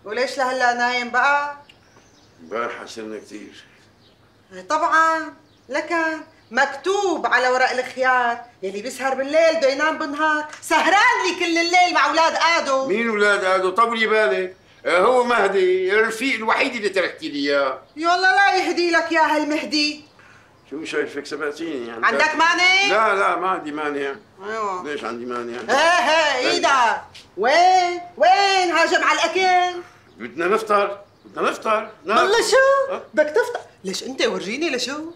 وليش لهلا نايم بقى؟ امبارح حسنا كثير. طبعا، لكن مكتوب على ورق الخيار يلي بيسهر بالليل بده ينام بالنهار، سهران لي كل الليل مع اولاد ادو. مين اولاد ادو؟ طولي بالك، هو مهدي الرفيق الوحيد اللي تركتي لي اياه. يلا لا يهدي لك يا هالمهدي. شو شايفك سبقتيني يعني؟ عندك مانع؟ لا ما عندي مانع. ايوه ليش عندي مانع؟ ايه ايدك. وين هاجم على الاكل؟ بدنا نفطر. والله شو؟ بدك تفطر؟ ليش انت ورجيني لشو؟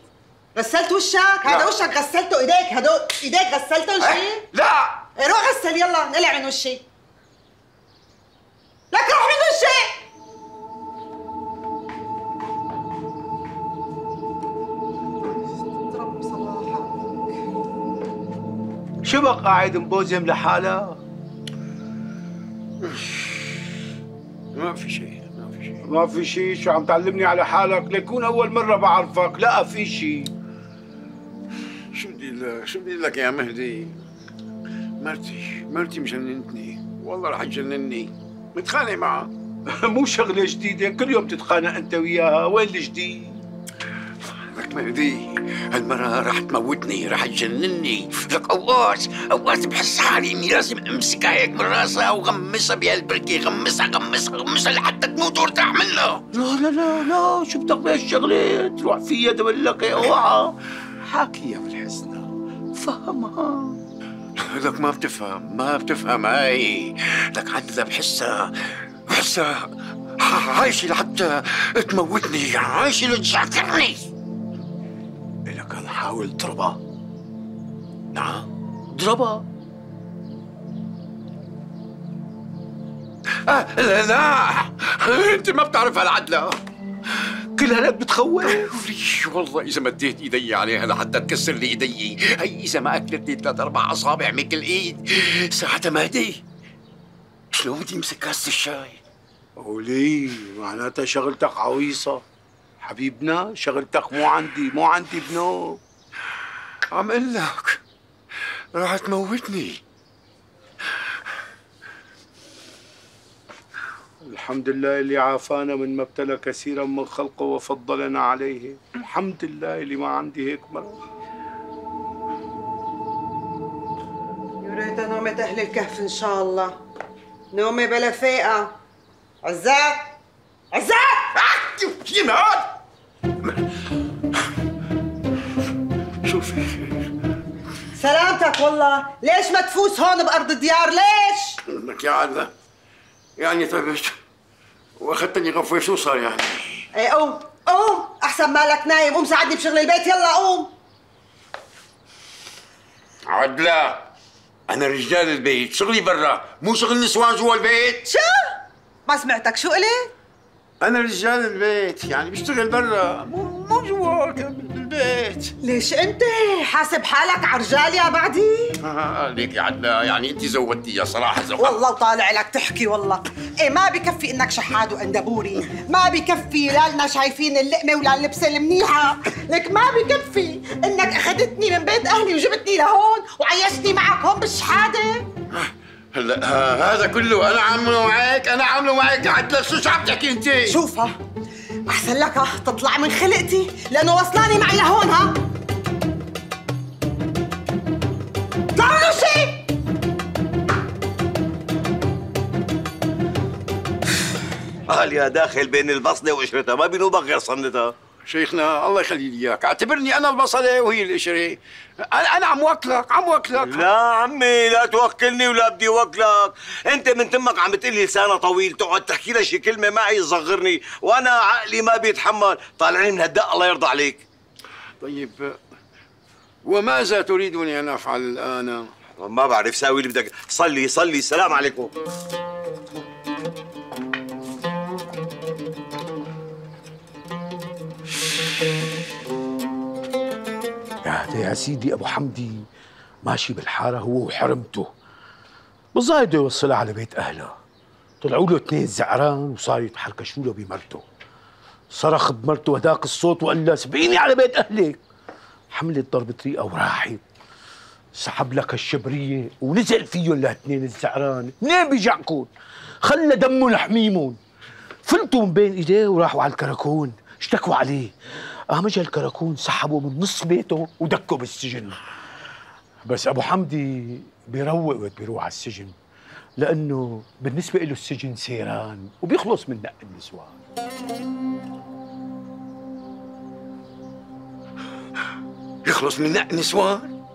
غسلت وشك؟ هذا وشك غسلته، ايديك هدول ايديك غسلتهم شيء؟ لا روح غسل يلا، نقلع من وشي. لك روح من وشي. اضرب صباحك. شو بك قاعد مبوزم لحالك؟ ما في شيء. ما في شيء؟ شو عم تعلمني على حالك؟ ليكون أول مرة بعرفك. لا في شيء. شو بدي لك يا مهدي؟ مرتي مجننتني، والله رح تجنني. متخانق معها. مو شغلة جديدة، كل يوم تتخانق أنت وياها، وين الجديد؟ لك مهدي، هالمرة رح تموتني، رح تجنني. لك أوقات بحس حالي إني لازم أمسكها هيك من راسها وغمسها بهالبركة، غمسها لحتى تموت وارتاح منها. لا شو بدك بهالشغلة؟ تروح فيها دبلك اوعى. حاكيها بالحسنى، فهمها. لك ما بتفهم هاي. لك عندها بحسها عايشة لحتى تموتني، عايشة لتشاكرني. لك نحاول اضربها. نعم اضربها. لا انت ما بتعرف هالعدلة. كل هالك بتخوف. والله إذا مديت إيدي عليها لحتى تكسر لي إيدي، هي إذا ما أكلتني 3-4 أصابع من كل إيد، ساعتها مهدي شلون بدي أمسك كاسة الشاي؟ وليه؟ معناتها شغلتك عويصة. حبيبنا شغلتك مو عندي بنو. عم قل لك راح تموتني. الحمد لله اللي عافانا من ما ابتلى كثيرا من خلقه وفضلنا عليه. الحمد لله اللي ما عندي هيك مرض. يا ريتها نومة أهل الكهف إن شاء الله، نومة بلا فيقة. عزات يمهد شوفي سلامتك. والله ليش ما تفوز هون بأرض الديار؟ ليش؟ لك يا عدلة يعني تعبت واخذتني غفوة، شو صار يعني؟ ايه قوم احسن مالك نايم. قوم ساعدني بشغل البيت، يلا قوم. عدلة أنا رجال البيت، شغلي برا مو شغل نسوان جوا البيت. شو؟ ما سمعتك، شو قلت؟ أنا رجال البيت يعني بشتغل برا مو جوا البيت. ليش أنت حاسب حالك عرجال يا بعدي؟ ليك يا عدلة يعني أنت زودتيها صراحة والله طالع لك تحكي. والله إيه ما بكفي إنك شحاد وأندبوري، ما بكفي لا لنا شايفين اللقمة ولا اللبسة المنيحة، لك ما بكفي إنك أخذتني من بيت أهلي وجبتني لهون وعيشتني معك هون بالشحادة. هلا هذا كله أنا عامله معك يا عدلة. شو عم تحكي أنت؟ شوفها أحسن لك تطلع من خلقتي لأنه وصلاني معي لهون. طلع من وشي. قال يا داخل بين البصلة وقشرتها ما بينوبك غير صندتها. شيخنا الله يخلي لي اياك، اعتبرني انا البصله وهي القشره. انا عم وكلك. لا عمي لا توكلني ولا بدي وكلك. انت من تمك عم بتقلي لسانها طويل، تقعد تحكي لها شي كلمه معي تصغرني، وانا عقلي ما بيتحمل. طالعني من هالدق الله يرضى عليك. طيب وماذا تريدني ان افعل الان؟ ما بعرف، ساوي اللي بدك. صلي السلام عليكم. يا سيدي ابو حمدي ماشي بالحاره هو وحرمته، بالظاهر بده يوصلها على بيت اهلها. طلعوا له 2 زعران وصار يتحركشوا له بمرته. صرخ بمرته هداك الصوت وقال لها سبقيني على بيت اهلك. حملت ضربة ريقه وراحت. سحب لك الشبريه ونزل فيهم ل2 الزعران. منين بيجعكم؟ خلى دمهم حميمون. فلتوا من بين ايديه وراحوا على الكراكون، اشتكوا عليه. قام اجى الكراكون سحبوا من نص بيته ودكوا بالسجن. بس ابو حمدي بيروق وقت بيروح على السجن، لانه بالنسبه له السجن سيران وبيخلص من نق النسوان. يخلص من نق نسوان؟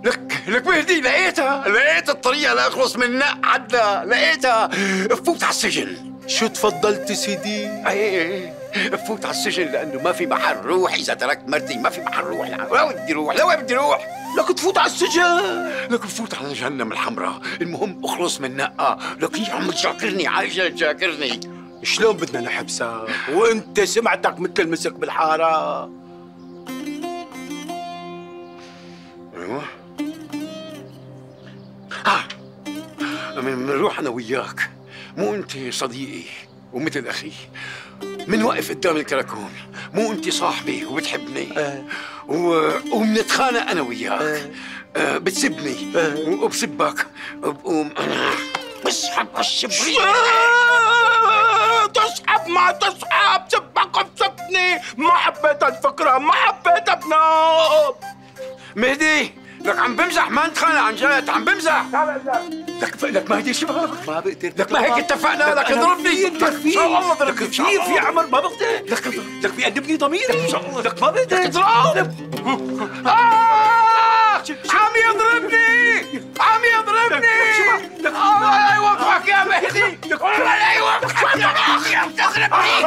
لك مهدي لقيت الطريقة لأخلص من نق عدنا، لقيتها. بفوت على السجن. شو تفضلت سيدي؟ ايه بفوت على السجن لأنه ما في محل روح. إذا تركت مرتي ما في محل روح. لوين بدي روح؟ لك تفوت على السجن. لك بفوت على جهنم الحمراء. المهم اخلص من نقة. لك هي عم تشاكرني، عايشة تشاكرني. شلون بدنا نحبسك وانت سمعتك مثل المسك بالحارة؟ ايوه منروح انا وياك، مو انت صديقي ومثل اخي، منوقف قدام الكراكون، مو انت صاحبي وبتحبني ومنتخانق انا وياك. بتسبني وبسبك، بقوم انا بسحب هالشبرية. تسحب ما تسحب، سبك بسبني. ما حبيت الفكرة، ما حبيت ابنك. مهدي لك عم بمزح، ما نتخانق عن جد، عم بمزح. لك مهدي شباب، ما بقدر. لك ما هيك اتفقنا. لك اضربني انت كثير، والله لك كثير في عمل، ما بقدر. لك بيأدبني ضميري. لك ما بقدر. اضرب. عم يضربني، عم يضربني. الله لا يوفقك يا مهدي، الله لا يوفقك يا اخي. عم تضربني.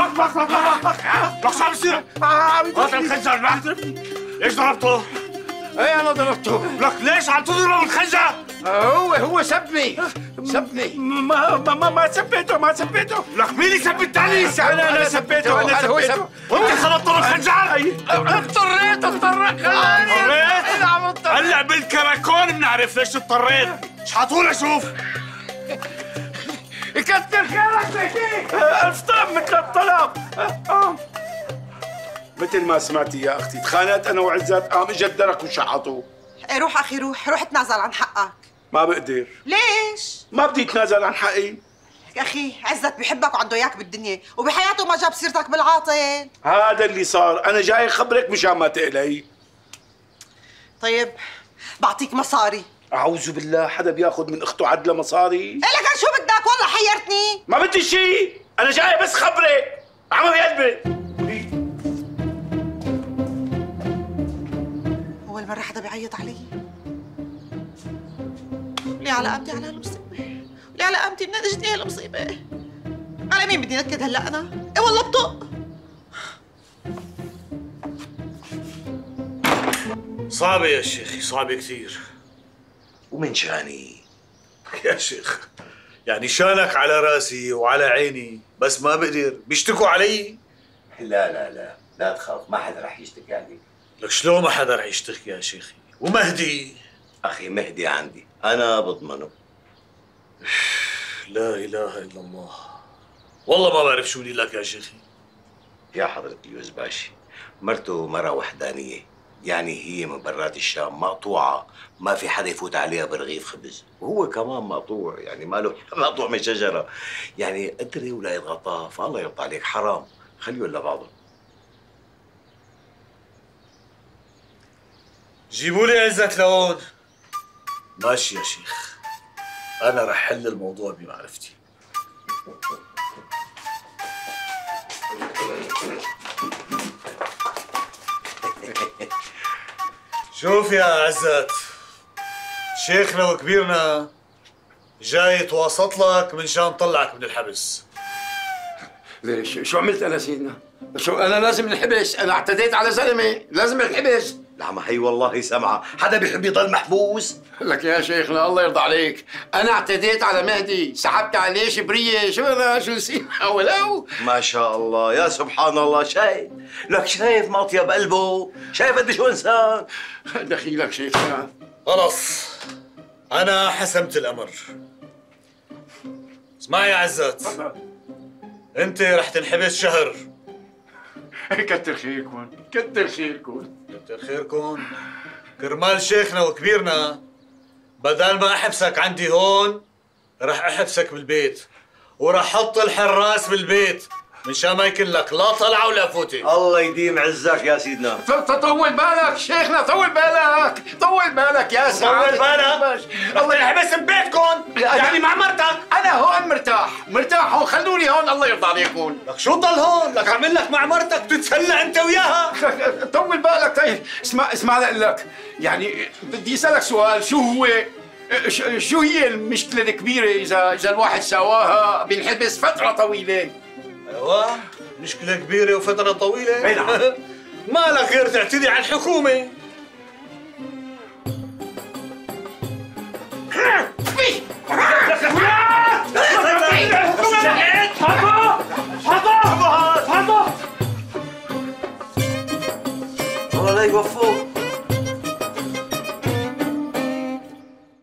لك شو عم يصير؟ هذا الخنجر بيضربني. ليش ضربته؟ ايه انا ضربته. لك ليش عم تضرب الخنجر؟ هو سبني. ما سبيته. لك مين اللي سب الثاني؟ انا سبيته. وانت خبطته بالخنجر. اضطريت خلاني. هلا بالكراكون بنعرف ليش اضطريت. شحطوا اشوف. يكتر خيرك مهدي. الف طلب مثل الطلب. مثل ما سمعتي يا اختي، تخانقت انا وعزت، قام اجى الدرك وشحطوه. ايه روح اخي روح تنازل عن حقك. ما بقدر. ليش؟ ما بدي اتنازل عن حقي. يا اخي عزت بحبك وعنده اياك بالدنيا، وبحياته ما جاب سيرتك بالعاطل. هذا اللي صار، انا جاي خبرك مشان ما تقلقي. طيب بعطيك مصاري. اعوذ بالله، حدا بياخذ من اخته عدله مصاري؟ إيه لك شو بدك؟ والله حيرتني. ما بدي شيء، انا جاي بس خبرك. عم بقلبي. أول مرة حدا بيعيط علي. لي على قامتي على هالمصيبة، لي على قامتي من اجتني هالمصيبة. على مين بدي نكد هلا أنا؟ إيه والله بطق. صعبة يا شيخي، صعبة كثير. ومن شاني يا شيخ يعني شانك على راسي وعلى عيني، بس ما بقدر، بيشتكوا علي. لا تخاف، ما حدا رح يشتكي عليك. لك شلون ما حدا رح يشتكي يا شيخي؟ ومهدي؟ اخي مهدي عندي، انا بضمنه. لا اله الا الله، والله ما بعرف شو بدي لك يا شيخي. يا حضرة اليوزباشي، مرته مرة وحدانية، يعني هي من برات الشام، مقطوعة، ما في حدا يفوت عليها برغيف خبز، وهو كمان مقطوع، يعني ماله مقطوع من شجرة، يعني قدري ولا يضغطها، فالله يرضى عليك، حرام، خليهم لبعضهم. جيبوا لي عزت لهون. ماشي يا شيخ، أنا رح حل الموضوع بمعرفتي. شوف يا عزت، شيخنا وكبيرنا جاي يتواسط لك من شان طلعك من الحبس. ليش؟ شو عملت انا سيدنا؟ شو انا لازم انحبس؟ انا اعتديت على زلمه، لازم انحبس. لا ما هي والله سمعة، حدا بيحب يضل محبوس؟ لك يا شيخنا الله يرضى عليك، انا اعتديت على مهدي، سحبت عليه شبريه، شو انا شو نسينا ولو؟ ما شاء الله، يا سبحان الله، شايف؟ لك شايف مطيب قلبه؟ شايف قد شو انسان؟ دخيلك شيخنا. خلص أنا حسمت الأمر. اسمع يا عزت، أنت رح تنحبس شهر. كتر خيركم، كتر خيركم. كتر خيركم. كرمال شيخنا وكبيرنا بدل ما أحبسك عندي هون رح أحبسك بالبيت، ورح حط الحراس بالبيت، مشان ما يكون لك لا طلعه ولا فوتي. الله يديم عزك يا سيدنا. طول بالك شيخنا، طول بالك، طول بالك يا سعادة. طول بالك؟ الله يحبس ببيتكم يعني مع مرتك. أنا هون مرتاح هون، خلوني هون الله يرضى عليكم. لك شو ضل هون؟ لك عامل لك مع مرتك تتسلى انت وياها. طول بالك. طيب اسمع لك، يعني بدي اسالك سؤال، شو هي المشكلة الكبيرة إذا الواحد سواها بينحبس فترة طويلة؟ ايوه مشكلة كبيرة وفترة طويلة. اي نعم. ما لك غير تعتدي على الحكومة.